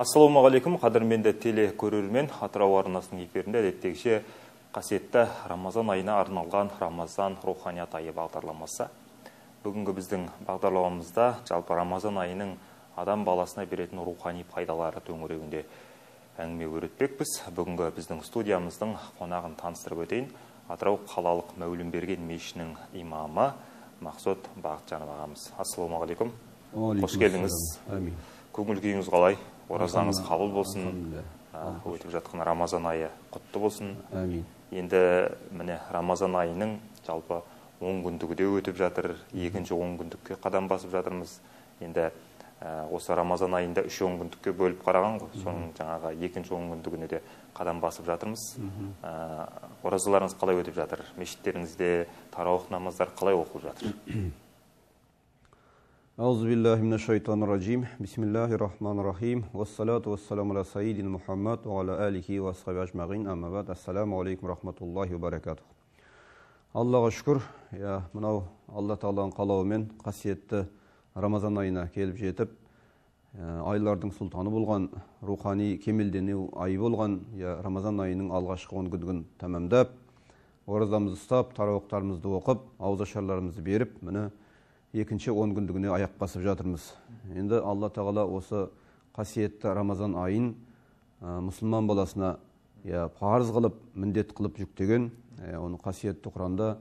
Ассалаумағалейкум, қадірменді теле көрермен. Атырау арнасының эфирінде әдеттегіше қасиетті Рамазан айына арналған Рамазан руханият айы бағдарламасы. Бүгінгі біздің бағдарламамызда жалпы Рамазан айының адам баласына беретін рухани пайдалары төңірегінде әңгіме өрбітпекпіз. Бүгінгі біздің студиямыздың қонағын таныстырып өтейін. Атырау қалалық Мәулімберген мешітінің имамы Мақсұт Бақытжанов ағамыз. Ассалаумағалейкум. Қош келдіңіз. Көңіл күйіңіз қалай? Оразаңыз қабыл болсын. Өтіп жатқан Рамазан айы құтты болсын. Енді міне Рамазан айының жалпы 10 күндігі де өтіп жатыр. Екінші 10 күндікке қадам басып жатырмыз. Енді осы Рамазан айында 3-10 күндікке бөліп қараған ғой. Соның жаңағы екінші 10 күндігіне де қадам басып жатырмыз. Оразаларыңыз қалай өтіп жатыр? Мешіттеріңізде тарауых намаздар қалай оқылып жатыр? أعوذ بالله من الشيطان الرجيم بسم الله الرحمن الرحيم والصلاة والسلام على سيدنا محمد وعلى آله وصحبه أجمعين أما بعد السلام عليكم ورحمة الله وبركاته. Аллаға шүкір, мынау Алла Тағаланың қалауымен қасиетті Рамазан айына келіп жетіп, айлардың сұлтаны болған, рухани кемелдену айы болған, Рамазан айының алғашқы 10 күндігін тәмамдап, оразамызды ұстап, тарауықтарымызды оқып, ауызашарларымызды беріп, міне екінші 10 күндігіне аяқ басып жатырмыз. Енді Алла Тағала осы қасиетті Рамазан айын мұсылман баласына парыз қылып, міндет қылып жүктеген. Оны қасиетті Құранда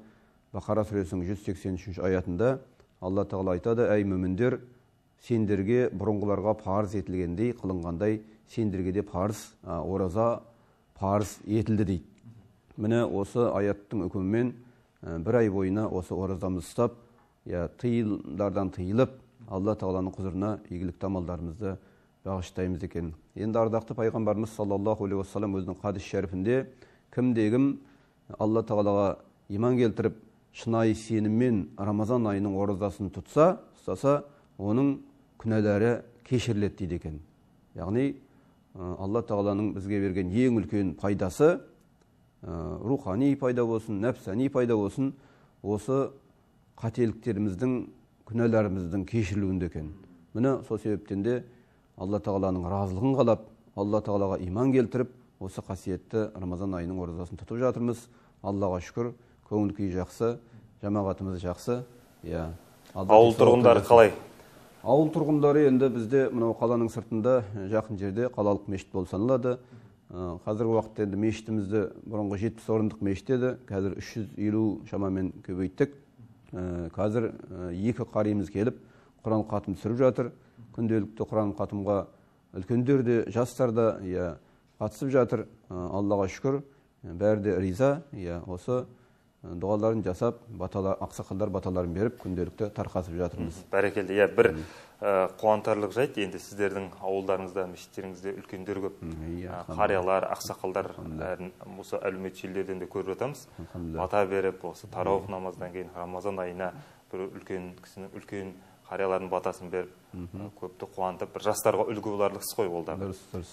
Бақара сүресінің 183 аятында Алла Тағала айтады: "Әй мүміндер, сендерге бұрынғыларға парыз етілгендей қылынғандай, сендерге де парыз, ораза парыз етілді" дейді. Міне осы аяттың үкімімен бір ай бойына осы оразамызды ұстап, тыйылдардан тыйылып, Алла Тағаланың құзырына игілікті амалдарымызды бағыштаймыз екен. Енді ардақты пайғамбарымыз саллаллаху алейхи уассалам өзінің хадис шәрифінде кімде-кім Алла Тағалаға иман келтіріп, шынайы сеніммен Рамазан айының оразасын ұстаса, оның күнәлары кешіріледі дейді екен. Яғни Алла Тағаланың бізге берген ең үлкен пайдасы, рухани пайда болсын, нәпсани пайда болсын, осы қателіктеріміздің, күнәларымыздың кешірілуінде екен. Міне сол себептен де Алла Тағаланың разылығын қалап, Алла Тағалаға иман келтіріп, осы қасиетті Рамазан айының оразасын тұтып жатырмыз. Аллаға шүкір, көңіл күй жақсы, жамағатымыз жақсы. Ауыл тұрғындары қалай? Ауыл тұрғындары енді бізде мынау қаланың сыртында жақын жерде қалалық мешіт болып саналады. Қазіргі уақытта енді мешітімізді бұрынғы 70 орындық мешіт еді, қазір 350 шамамен көбейттік. Қазір 2 қариымыз келіп, Құран қатым түсіріп жатыр. Күнделікті Құран қатымға үлкендер де, жастар да қатысып жатыр. Аллаға шүкір, бәрі де риза. Осы дұғаларын жасап, ақсақалдар баталарын беріп, күнделікті тарқасып жатырмыз. Бәрекелді. Бір қуантарлық жайт, енді сіздердің ауылдарыңызда, мешіттеріңізде үлкендер көп, қариялар, ақсақалдар, осы әлеуметтік желілерден де көріп жатамыз. Бата беріп, осы тарауых намаздан кейін Рамазан айына бір үлкен кісінің, үлкен қариялардың батасын беріп, көпті қуантып, бір жастарға үлгі боларлық іс қой ол да.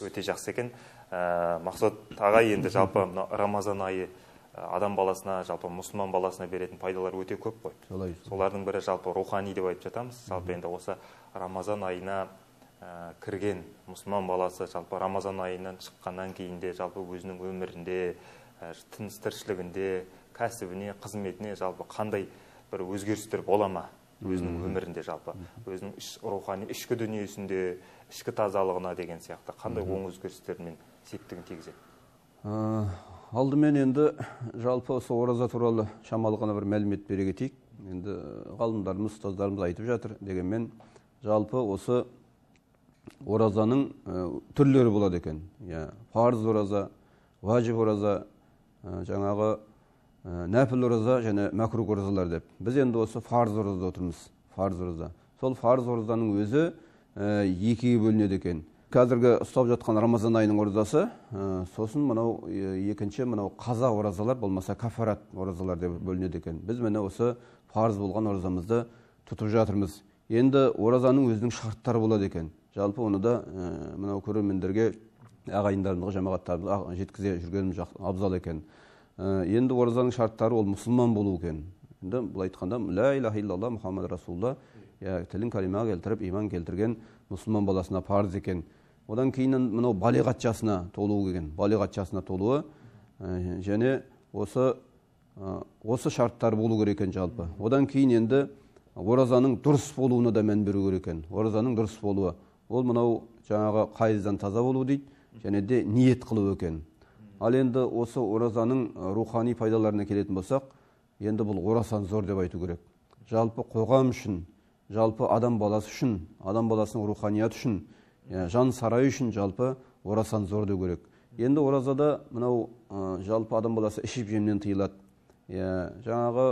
Өте жақсы екен. Мақсұт аға, енді жалпы Рамазан айы адам баласына, жалпы мұсылман баласына беретін пайдалар өте көп қой. Солардың бірі жалпы рухани деп айтып жатамыз. Жалпы енді осы Рамазан айына кірген мұсылман баласы жалпы Рамазан айынан шыққаннан кейінде жалпы өзінің өмірінде, тыныс тіршілігінде, кәсібіне, қызметіне жалпы қандай бір өзгерістер бола ма? Өзінің өмірінде жалпы, өзінің рухани ішкі дүниесінде, ішкі тазалығына деген сияқты қандай оң өзгерістермен септігін тигізеді? Алдымен енді жалпы осы ораза туралы шамалы ғана бір мәлімет бере кетейік. Енді ғалымдарымыз, ұстаздарымыз айтып жатыр. Дегенмен жалпы осы оразаның түрлері болады екен. Парыз ораза, важиб ораза, жаңағы нәпіл ораза және мәкрух оразалар деп. Біз енді осы парыз оразада отырмыз. Парыз ораза. Сол парыз оразаның өзі екіге бөлінеді екен. Қазіргі ұстап жатқан Рамазан айының оразасы, сосын мынау екінші мынау қаза оразалар, болмаса кафарат оразалар деп бөлінеді екен. Біз міне осы парыз болған оразамызды тұтып жатырмыз. Енді оразаның өзінің шарттары болады екен. Жалпы оны да мынау көрермендерге, ағайындарымызға, жамағаттарымызға жеткізе жүргеніміз абзал екен. Енді оразаның шарттары ол мұсылман болу екен. Енді бұл айтқанда ла илаха иллаллах Мұхаммад Расулулла, тілін калимаға келтіріп, иман келтірген мұсылман баласына парыз екен. Одан кейін мынау балиғат жасына толуы келген. Балиғат жасына толуы және осы шарттар болу керек екен жалпы. Одан кейін енді оразаның дұрыс болуына да мән беру керек екен. Оразаның дұрыс болуы. Ол мынау жаңағы қайыздан таза болу дейді, және де ниет қылу екен. Ал енді осы оразаның рухани пайдаларына келетін болсақ, енді бұл орасан зор деп айту керек. Жалпы қоғам үшін, жалпы адам баласы үшін, адам баласының руханият үшін, жан сарай үшін жалпы орасан зор деу керек. Енді оразада мынау жалпы адам баласы ішіп жемнен тыйылады. Жаңағы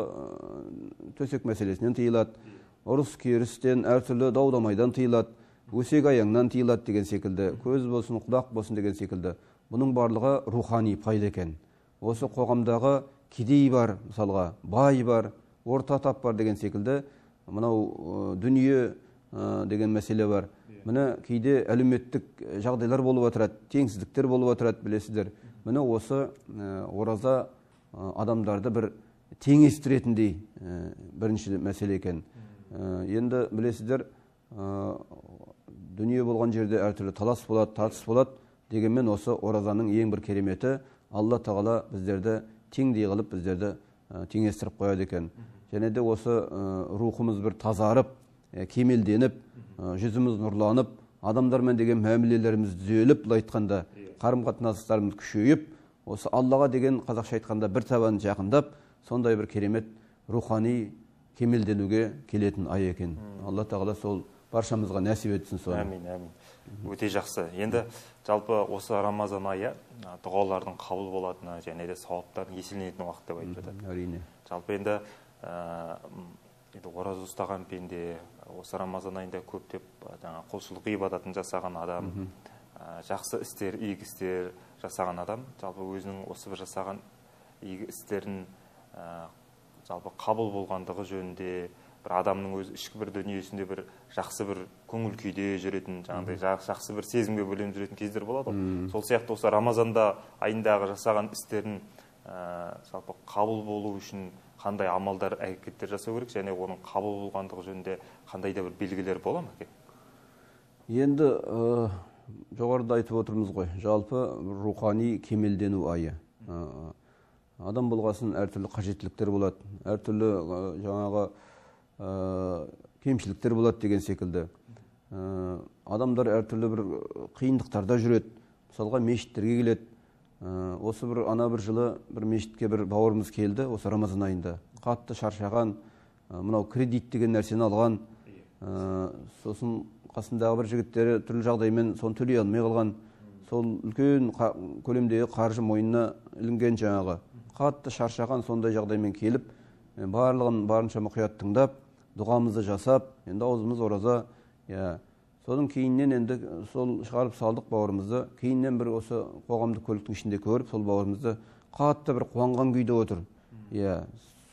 төсек мәселесінен тыйылады, ұрыс керістен, әртүрлі даудамайдан тыйылады, өсек аяңнан тыйылады деген секілді, көз болсын, құлақ болсын деген секілді. Бұның барлығы рухани пайда екен. Осы қоғамдағы кедей бар, мысалға, бай бар, орта тап бар деген секілді, мынау дүние деген мәселе бар. Міне кейде әлеуметтік жағдайлар болып отырады, теңсіздіктер болып отырады, білесіздер. Міне осы ораза адамдарды бір теңестіретіндей бірінші мәселе екен. Енді білесіздер, дүние болған жерде әртүрлі талас болады, тартыс болады. Дегенмен осы оразаның ең бір кереметі, Алла тағала біздерді теңдей қылып, біздерді теңестіріп қояды екен. Және де осы рухымыз бір тазарып, кемелденіп, жүзіміз нұрланып, адамдармен деген мәмілелеріміз түзеліп, былай айтқанда қарым-қатынастарымыз күшейіп, осы Аллаға деген қазақша айтқанда бір табан жақындап, сондай бір керемет рухани кемелденуге келетін ай екен. Алла тағала сол баршамызға нәсіп етсін соны. Әмин, әмин. Өте жақсы. Енді жалпы осы Рамазан айы дұғалардың қабыл болатыны және де сауаптардың еселенетін уақыт деп айтып жатады. Әрине. Жалпы енді ораза ұстаған пенде осы Рамазан айында көптеп құлшылық ибадатын жасаған адам, жақсы істер, игі істер жасаған адам, жалпы өзінің осы бір жасаған игі істерін жалпы қабыл болғандығы жөнінде бір адамның өз ішкі бір дүниесінде бір жақсы бір көңіл күйде жүретін, жаңағыдай жақсы бір сезімге бөленіп жүретін кездер болады. Сол сияқты осы Рамазанда айындағы жасаған істерін жалпы қабыл болу үшін қандай амалдар, әрекеттер жасау керек, және оның қабыл болғандығы жөнінде қандай да бір белгілер бола ма екен? Енді жоғарыда айтып отырмыз ғой, жалпы рухани кемелдену айы. Адам болғасын әртүрлі қажеттіліктер болады, әртүрлі жаңағы кемшіліктер болады деген секілді. Адамдар әртүрлі бір қиындықтарда жүреді. Мысалға мешіттерге келеді. Осы бір бір жылы бір мешітке бір бауырымыз келді, осы Рамазан айында. Қатты шаршаған, мынау кредит деген нәрсені алған. Сосын қасындағы бір жігіттері түрлі жағдаймен соны төлей алмай қалған. Сол үлкен көлемдегі қаржы мойнына ілінген жаңағы. Қатты шаршаған сондай жағдаймен келіп, барлығын барынша мұқият тыңдап, дұғамызды жасап, енді аузымыз ораза. Содан кейіннен енді сол шығарып салдық бауырымызды. Кейіннен бір осы қоғамдық көліктің ішінде көріп, сол бауырымызды қатты бір қуанған күйде отыр.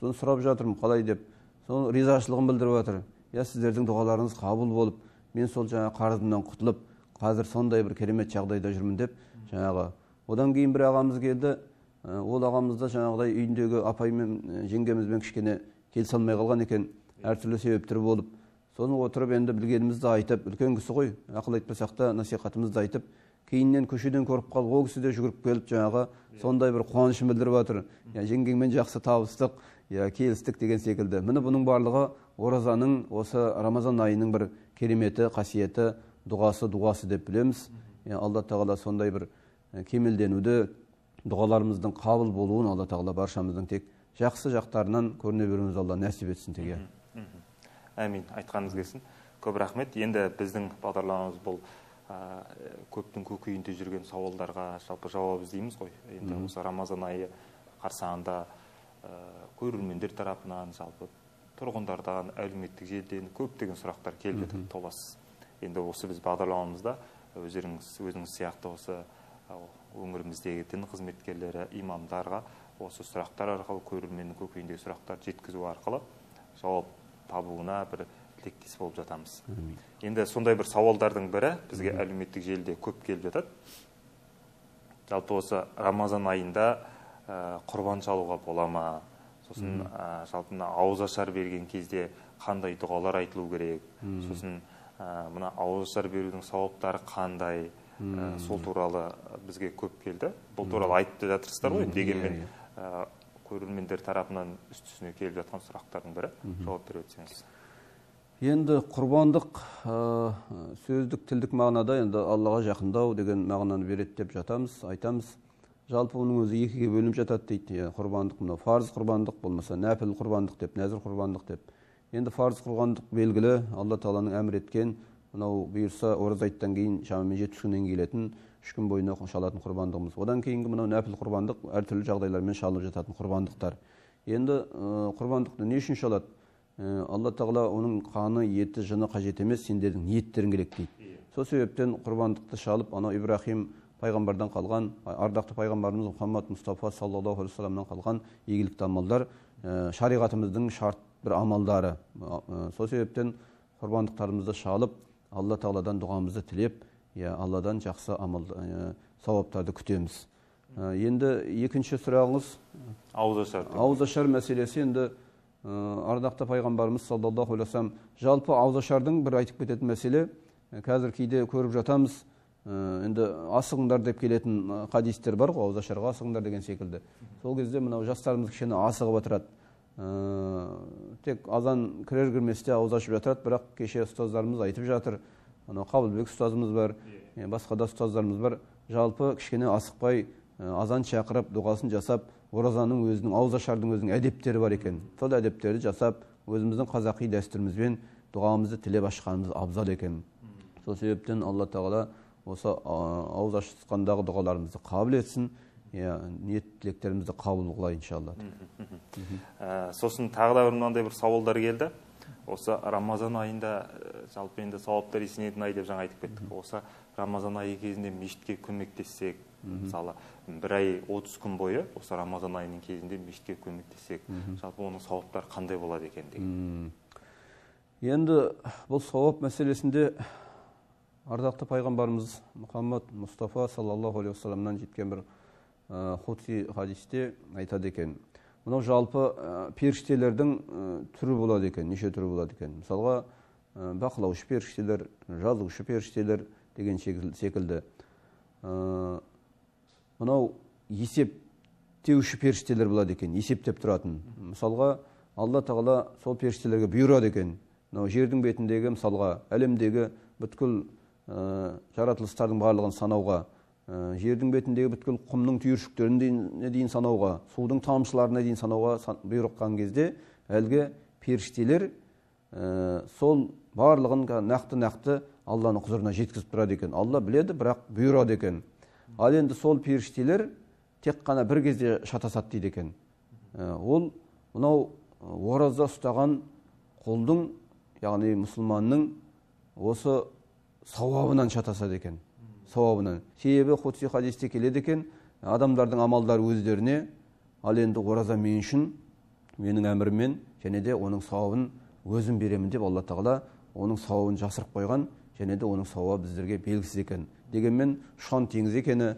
Соны сұрап жатырмын, қалай деп. Соны ризашылығын білдіріп жатыр. Сіздердің дұғаларыңыз қабыл болып, мен сол жаңа қарызымнан құтылып, қазір сондай бір керемет жағдайда жүрмін деп жаңағы. Одан кейін бір ағамыз келді. Ол ағамызда жаңағыдай үйіндегі апаймен, жеңгемізбен кішкене келісе алмай қалған екен, әртүрлі себептер болып. Соны отырып енді білгенімізді айтып, үлкен кісі ғой, ақыл айтпасақ та насихатымызды айтып, кейіннен көшеден көріп қалып, ол кісі де жүгіріп келіп жаңағы сондай бір қуанышын білдіріп жатыр. Жеңгеңмен жақсы табыстық, келістік деген секілді. Міне бұның барлығы оразаның осы Рамазан айының бір кереметі, қасиеті, дұғасы деп білеміз. Алла тағала сондай бір кемелденуді, дұғаларымыздың қабыл болуын Алла тағала баршамыздың тек жақсы жақтарынан көріне беруіміз Алла нәсіп етсін теге. Әмин, айтқаныңыз келсін. Көп рахмет. Енді біздің бағдарламамыз бұл көптің көкейінде жүрген сауалдарға жалпы жауап іздейміз ғой. Енді осы Рамазан айы қарсаңында көрермендер тарапынан, жалпы тұрғындардан, әлеуметтік желіден көптеген сұрақтар келіп жатыр, толассыз. Енді осы біз бағдарламамызда өзіңіз сияқты осы өңіріміздегі дін қызметкерлері, имамдарға осы сұрақтар арқылы, көрерменнің көкейіндегі сұрақтар жеткізу арқылы жауап табуына бір тілектес болып жатамыз. Енді сондай бір сауалдардың бірі бізге әлеуметтік желіде көп келіп жатады. Жалпы осы Рамазан айында құрбан шалуға бола ма? Сосын жалпы ауызашар берген кезде қандай дұғалар айтылу керек? Сосын мына ауызашар берудің сауаптары қандай? сол туралы бізге көп келді. Бұл туралы айтып жатырсыздар ғой, дегенмен көрермендер тарапынан үстісіне келіп жатқан сұрақтардың бірі, жауап беріп өтсеңіз. Енді құрбандық сөздік тілдік мағынада енді Аллаға жақындау деген мағынаны береді деп жатамыз, айтамыз. Жалпы оның өзі екіге бөлініп жатады дейді. Құрбандық мынау фарз құрбандық, болмаса нәпіл құрбандық деп, нәзір құрбандық деп. Енді фарз құрбандық белгілі, Алла Тағаланың әмір еткен, мынау бұйырса ораза айттан кейін шамамен 70 күннен келетін 3 күн бойына шалатын құрбандығымыз. Одан кейінгі мынау нәпіл құрбандық әртүрлі жағдайлармен шалынып жататын құрбандықтар. Енді құрбандықты не үшін шалады? Алла Тағала оның қаны, еті, жыны қажет емес, сендердің ниеттерің керек дейді. Сол себептен құрбандықты шалып, анау Ибрахим пайғамбардан қалған, ардақты пайғамбарымыз Мұхаммад Мұстафа саллаллаху алейхи вассаламнан қалған игілікті амалдар, шариғатымыздың шарт бір амалдары. Сол себептен құрбандықтарымызды шалып, Алла Тағаладан дұғамызды тілеп, Алладан жақсы амал сауаптарды күтеміз. Енді екінші сұрағыңыз ауызашар мәселесі. Енді ардақты пайғамбарымыз саллаллаху алейхи вассалам жалпы ауызашардың бір айтып кететін мәселе, қазір кейде көріп жатамыз, енді асығыңдар деп келетін хадистер бар ғой, ауызашарға асығыңдар деген секілді. Сол кезде мынау жастарымыз кішкене асығып отырады. Тек азан кірер кірместе ауыз ашып жатырады, бірақ кеше ұстаздарымыз айтып жатыр, Қабылбек ұстазымыз бар, басқа да ұстаздарымыз бар, жалпы кішкене асықпай азан шақырып, дұғасын жасап, оразаның өзінің, ауызашардың өзінің әдептері бар екен. Сол әдептерді жасап, өзіміздің қазақи дәстүрімізбен дұғамызды тілеп ашқанымыз абзал екен. Сол себептен Алла Тағала осы ауыз ашқандағы дұғаларымызды қабыл етсін, ниет тілектерімізді қабыл қылайын иншалла. Сосын тағы да мынандай бір сауалдар келді. Осы Рамазан айында жалпы енді сауаптар есенетін ай деп жаңа айтып кеттік. Осы Рамазан айы кезінде мешітке көмектессек, мысалы бір ай 30 күн бойы осы Рамазан айының кезінде мешітке көмектессек, жалпы оның сауаптары қандай болады екен деген. Енді бұл сауап мәселесінде ардақты пайғамбарымыз Мұхаммад Мұстафа саллаллаху алейхи вассаламнан жеткен бір худси хадисте айтады екен. Мынау жалпы періштелердің түрі болады екен, неше түрі болады екен. Мысалға, бақылаушы періштелер, жазушы періштелер деген секілді. Мынау есептеуші періштелер болады екен, есептеп тұратын. Мысалға, Алла Тағала сол періштелерге бұйырады екен. Мынау жердің бетіндегі, мысалға, әлемдегі бүткіл жаратылыстардың барлығын санауға, жердің бетіндегі бүткіл құмның түйіршіктеріне дейін санауға, судың тамшыларына дейін санауға бұйырған кезде, әлгі періштелер сол барлығын нақты Алланың құзырына жеткізіп тұрады екен. Алла біледі, бірақ бұйырады екен. Ал енді сол періштелер тек қана бір кезде шатасады дейді екен. Ол мынау ораза ұстаған құлдың, яғни мұсылманның осы сауабынан шатасады екен. Сауабынан. Себебі худси хадисте келеді екен, адамдардың амалдары өздеріне, ал енді ораза мен үшін, менің әміріммен, және де оның сауабын өзім беремін деп Алла Тағала оның сауабын жасырып қойған, және де оның сауабы біздерге белгісіз екен. Дегенмен шан теңіз екені,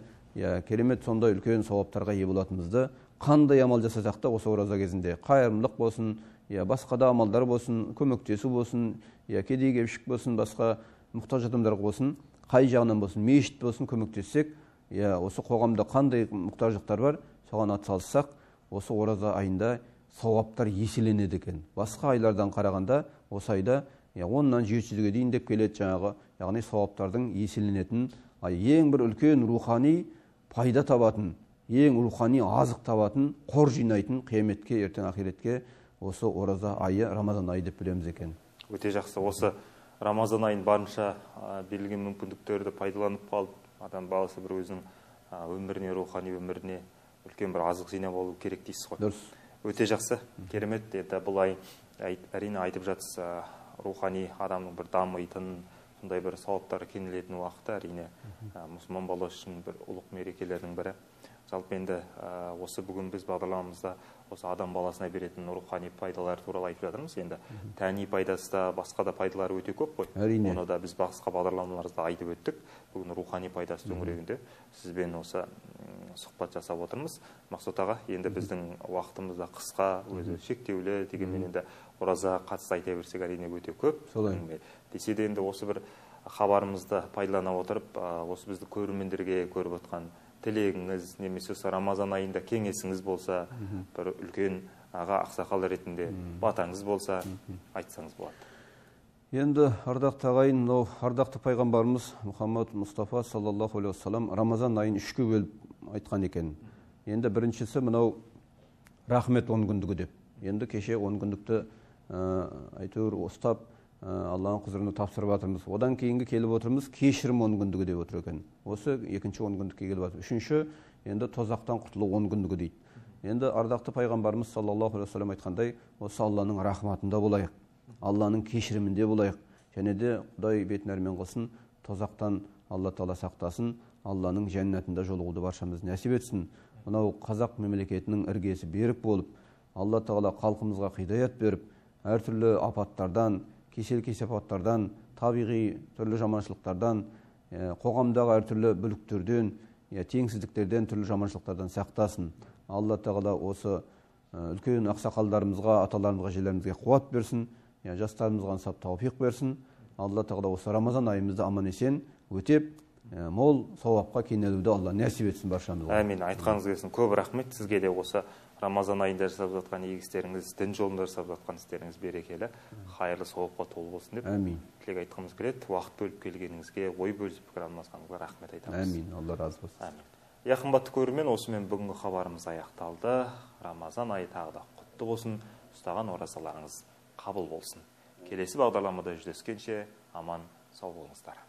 керемет сондай үлкен сауаптарға ие болатынымызды, қандай амал жасасақ та осы ораза кезінде қайырымдылық болсын, басқа да амалдар болсын, көмектесу болсын, кедей-кепшік болсын, басқа мұқтаж адамдар болсын, қай жағынан болсын, мешіт болсын, көмектессек, осы қоғамда қандай мұқтаждықтар бар, соған атсалыссақ, осы ораза айында сауаптар еселенеді екен. Басқа айлардан қарағанда осы айда 10-нан 700-ге дейін деп келеді жаңағы, яғни сауаптардың еселенетін, ең бір үлкен рухани пайда табатын, ең рухани азық табатын, қор жинайтын қияметке, ертең ақиретке осы ораза айы, Рамазан айы деп білеміз екен. Өте жақсы. Осы Рамазан айын барынша берілген мүмкіндіктерді пайдаланып қалып, адам баласы бір өзінің өміріне, рухани өміріне үлкен бір азық жинап алу керек дейсіз ғой. Дұрыс. Өте жақсы, керемет. Бұл ай әрине айтып жатсыз, рухани адамның бір дамитын, сондай бір сауаптары кеңелетін уақыты әрине мұсылман баласы үшін бір ұлық мерекелердің бірі. Жалпы енді осы бүгін біз бағдарламамызда осы адам баласына беретін рухани пайдалар туралы айтып жатырмыз. Енді тәни пайдасы да, басқа да пайдалары өте көп қой. Әрине. Оны да біз басқа бағдарламаларымызда айтып өттік. Бүгін рухани пайдасы төңірегінде сізбен осы сұхбат жасап отырмыз. Мақсұт аға, енді біздің уақытымызда қысқа, өзі шектеулі, дегенмен енді ораза қатысты айта берсек әрине өте көп. Солай. Десе де енді осы бір хабарымызды пайдалана отырып, осы бізді көрермендерге көріп отқан тілегіңіз немесе осы Рамазан айында кеңесіңіз болса, бір үлкен аға ақсақал ретінде батаңыз болса, айтсаңыз болады. Енді ардақты ағайын, мынау ардақты пайғамбарымыз Мұхаммад Мұстафа саллаллаху алейхи вассалам Рамазан айын 3-ке бөліп айтқан екен. Енді біріншісі мынау рахмет 10 күндігі деп. Енді кеше 10 күндікті әйтеуір ұстап Алланың құзырына тапсырып жатырмыз. Одан кейінгі келіп отырмыз кешірім 10 күндігі деп отыр екен. Осы екінші 10 күндікке келіп жатыр. Үшінші енді тозақтан құтылу 10 күндігі дейді. Енді ардақты пайғамбарымыз саллаллаху алейхи вассалам айтқандай, осы Алланың рахматында болайық, Алланың кешірімінде болайық, және де Құдай бетін әрмен қылсын, тозақтан Алла Тағала сақтасын, Алланың жәннатында жолығуды баршамыз нәсіп етсін. Мынау қазақ мемлекетінің іргесі берік болып, Алла Тағала халқымызға хидаят беріп, әртүрлі апаттардан, кесел-кесапаттардан, табиғи түрлі жаманшылықтардан, қоғамдағы әртүрлі бүліктерден, теңсіздіктерден, түрлі жаманшылықтардан сақтасын. Алла Тағала осы үлкен ақсақалдарымызға, аталарымызға, желерімізге қуат берсін, жастарымызға ынсап тауфиқ берсін. Алла Тағала осы Рамазан айымызды аман есен өтеп, мол сауапқа кенелуді Алла нәсіп етсін баршамызға. Әмин. Айтқаныңыз келсін. Көп рахмет. Сізге де осы Рамазан айында жасап жатқан игі істеріңіз, дін жолында жасап жатқан істеріңіз берекелі, қайырлы сауапқа толы болсын деп тілек айтқымыз келеді. Уақыт бөліп келгеніңізге, ой бөлісіп пікір алмасқаныңызға рахмет айтамыз. Әмин. Алла разы болсын. Әмин. Қымбатты көрермен, осымен бүгінгі хабарымыз аяқталды. Рамазан айы тағы да құтты болсын, ұстаған оразаларыңыз қабыл болсын. Келесі бағдарламада жүздескенше аман сау болыңыздар.